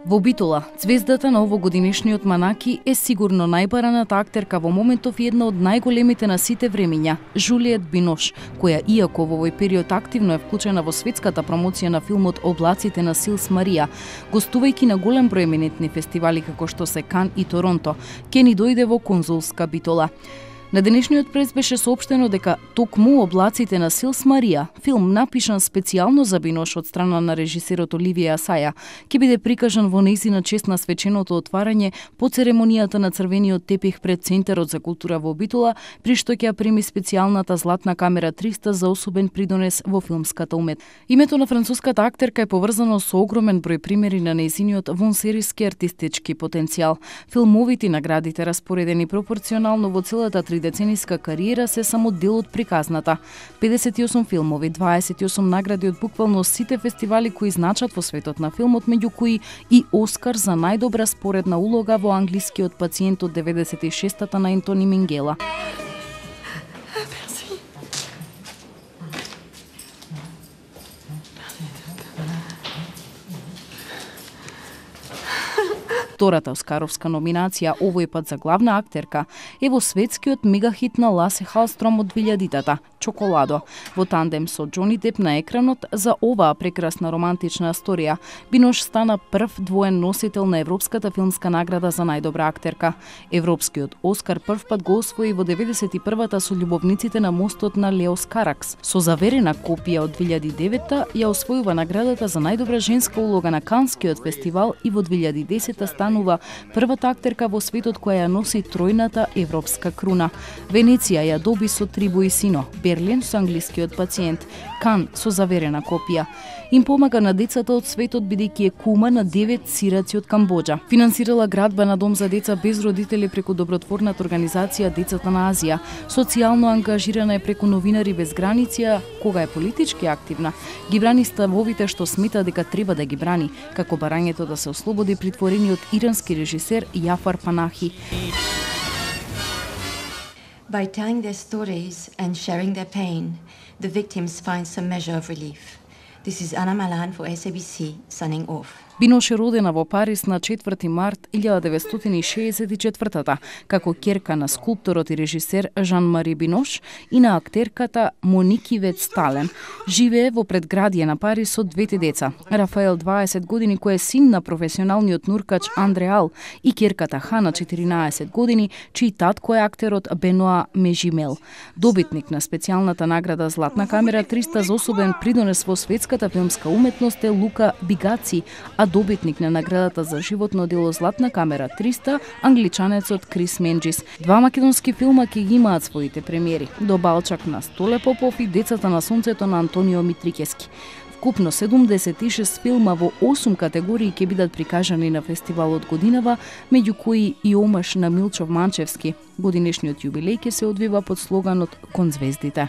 Во Битола, звездата на овогодинешниот Манаки е сигурно најбараната актерка во моментов и една од најголемите на сите времиња, Жулиет Бинош, која иако во овој период активно е вклучена во светската промоција на филмот Облаците на Силс Марија, гостувајќи на голем број еминентни фестивали како што се Кан и Торонто, ќе ни дојде во конзулска Битола. На денешниот прес беше соопштено дека токму Облаците на Силс Марија, филм напишан специјално за Бинош од страна на режисерот Оливија Асаја, ќе биде прикажан во нејзина чест на свеченото отварање по церемонијата на црвениот тепих пред Центарот за култура во Битола, при што ќе ја прими специјалната Златна камера 300 за особен придонес во филмската уметност. Името на француската актерка е поврзано со огромен број примери на нејзиниот вонсериски артистички потенцијал. Филмовите наградите распоредени пропорционално во целата децениска кариера се само дел од приказната. 58 филмови, 28 награди од буквално сите фестивали кои значат во светот на филмот, меѓу кои и Оскар за најдобра споредна улога во Англискиот пациент од 96-та на Ентони Мингела. Втората оскаровска номинација, овој пат за главна актерка, е во светскиот мегахит на Ласе Халстром од 2000-та, Чоколадо, во тандем со Џони Деп на екранот за оваа прекрасна романтична сторија. Бинош стана прв двоен носител на Европската филмска награда за најдобра актерка. Европскиот Оскар прв пат го освои во 91-та со Љубовниците на мостот на Леос Каракс. Со заверена копија од 2009-та ја освојува наградата за најдобра женска улога на Канскиот фестивал и во 2010-та станува првата актерка во светот која ја носи тројната европска круна. Венеција ја доби со Трибу и сино, Берлин со Англискиот пациент, Кан со заверена копија. Им помага на децата од светот бидејќи е кума на 9 сираци од Камбоџа. Финансирала градба на дом за деца без родители преку добротворната организација Децата на Азија. Социјално ангажирана е преку Новинари без граници, кога е политички активна. Ги брани ставовите што смета дека треба да ги брани, како барањето да се ослободи притворениот ирански режисер Јафар Панахи. By telling their stories and sharing their pain, the victims find some measure of relief. This is Anna Malan for SABC, signing off. Бинош е родена во Париз на 4 март 1964 како ќерка на скулпторот и режисер Жан-Мари Бинош и на актерката Моник Ивет Стален. Живее во предградие на Париз со двете деца. Рафаел 20 години кој е син на професионалниот нуркач Андреал и ќерката Хана 14 години чиј татко е актерот Беноа Межимел. Добитник на специјалната награда Златна камера 300 за особен придонес во светската филмска уметност е Лука Бигаци, а добитник на наградата за животно дело Златна камера 300, англичанецот Крис Менџис. Два македонски филма ќе ги имаат своите премиери: До Балчак на Столе Попов и Децата на сонцето на Антонио Митрикески. Вкупно 76 филма во 8 категории ќе бидат прикажани на фестивалот годинава, меѓу кои и омаш на Милчов Манчевски. Годинешниот јубилеј ќе се одвива под слоганот Кон звездите.